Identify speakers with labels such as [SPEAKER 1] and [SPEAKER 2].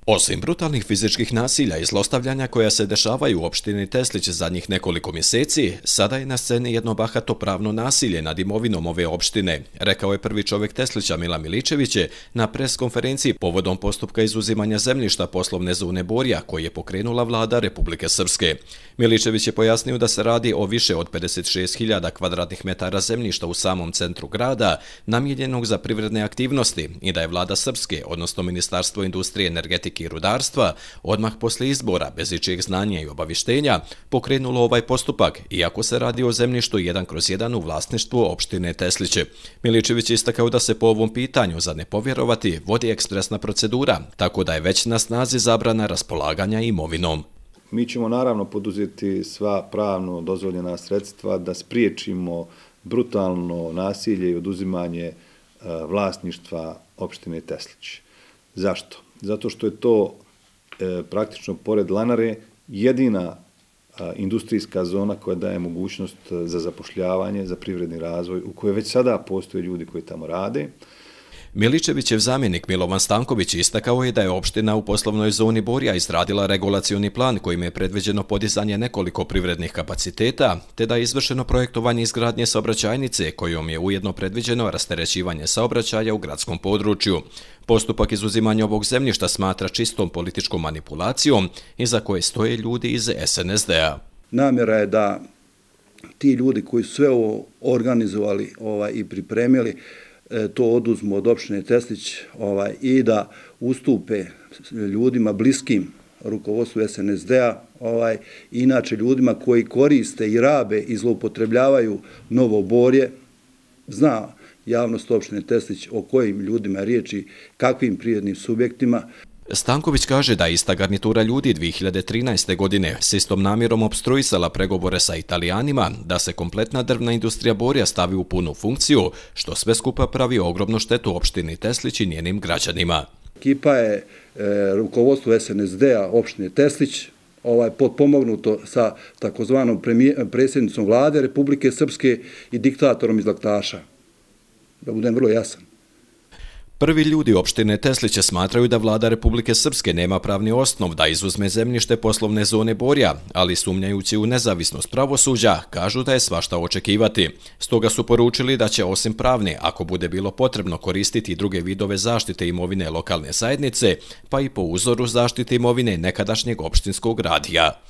[SPEAKER 1] Osim brutalnih fizičkih nasilja i zlostavljanja koja se dešavaju u opštini Teslić zadnjih nekoliko mjeseci, sada je na sceni jedno bahato pravno nasilje nad imovinom ove opštine, rekao je prvi čovjek Teslića Mila Miličević na preskonferenciji povodom postupka izuzimanja zemljišta poslovne zone Borja koji je pokrenula vlada Republike Srpske. Miličević je pojasnio da se radi o više od 56.000 kvadratnih metara zemljišta u samom centru grada, namijenjenog za privredne aktivnosti i da je vlada Srpske, odnosno Ministarstvo industrije, energetike i rudarstva, odmah poslije izbora, bez ičijeg znanja i obavištenja, pokrenulo ovaj postupak, iako se radi o zemljištu 1/1 u vlasništvu opštine Tesliće. Miličević je istakao da se po ovom pitanju, za ne povjerovati, vodi ekspresna procedura, tako da je već na snazi zabrana raspolaganja imovinom.
[SPEAKER 2] Mi ćemo naravno poduzeti sva pravno dozvoljena sredstva da spriječimo brutalno nasilje i oduzimanje vlasništva opštine Teslić. Zašto? Zato što je to praktično pored Lanare jedina industrijska zona koja daje mogućnost za zapošljavanje, za privredni razvoj, u kojoj već sada postoje ljudi koji tamo rade.
[SPEAKER 1] Miličevićev zamjenik Milovan Stanković istakao je da je opština u poslovnoj zoni Borja izradila regulacioni plan kojim je predviđeno podizanje nekoliko privrednih kapaciteta, te da je izvršeno projektovanje izgradnje saobraćajnice kojom je ujedno predviđeno rasterećivanje saobraćaja u gradskom području. Postupak izuzimanja ovog zemljišta smatra čistom političkom manipulacijom iza koje stoje ljudi iz SNSD-a.
[SPEAKER 3] Namjera je da ti ljudi koji su sve ovo organizovali i pripremili to oduzmu od opštine Teslić i da ustupe ljudima bliskim rukovodstvu SNSD-a, inače ljudima koji koriste i rabe i zloupotrebljavaju Novo Borje. Zna javnost opštine Teslić o kojim ljudima je riječi, kakvim privrednim subjektima.
[SPEAKER 1] Stanković kaže da je ista garnitura ljudi 2013. godine s istom namjerom opstruisala pregovore sa Italijanima da se kompletna drvna industrija Borja stavi u punu funkciju, što sve skupa pravi ogromnu štetu opštini Teslić i njenim građanima.
[SPEAKER 3] Ekipa je rukovodstvo SNSD-a opštine Teslić potpomognuto sa takozvanom predsjednicom vlade Republike Srpske i diktatorom iz Laktaša. Da budem vrlo jasan.
[SPEAKER 1] Prvi ljudi opštine Tesliće smatraju da vlada Republike Srpske nema pravni osnov da izuzme zemljište poslovne zone Borja, ali sumnjajući u nezavisnost pravosuđa, kažu da je svašta očekivati. Stoga su poručili da će osim pravne, ako bude bilo potrebno, koristiti druge vidove zaštite imovine lokalne zajednice, pa i po uzoru zaštite imovine nekadašnjeg opštinskog radija.